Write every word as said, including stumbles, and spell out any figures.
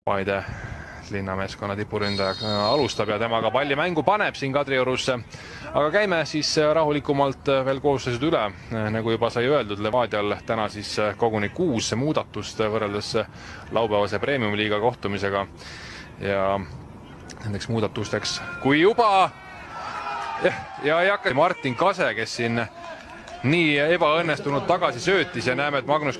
Paide linnameeskonna tipuründaja alustab ja temaga palli mängu paneb siin Kadriorusse. Aga käime siis rahulikumalt veel kooslused üle. Nagu juba sai öeldud, Levadial täna siis koguni kuus muudatust võrreldes laupäevase Premium-liiga kohtumisega. Ja nendeks muudatusteks, kui juba ja ei hakka Martin Kase, kes siin nii ebaõnnestunud tagasi söötis ja näeme, et Magnus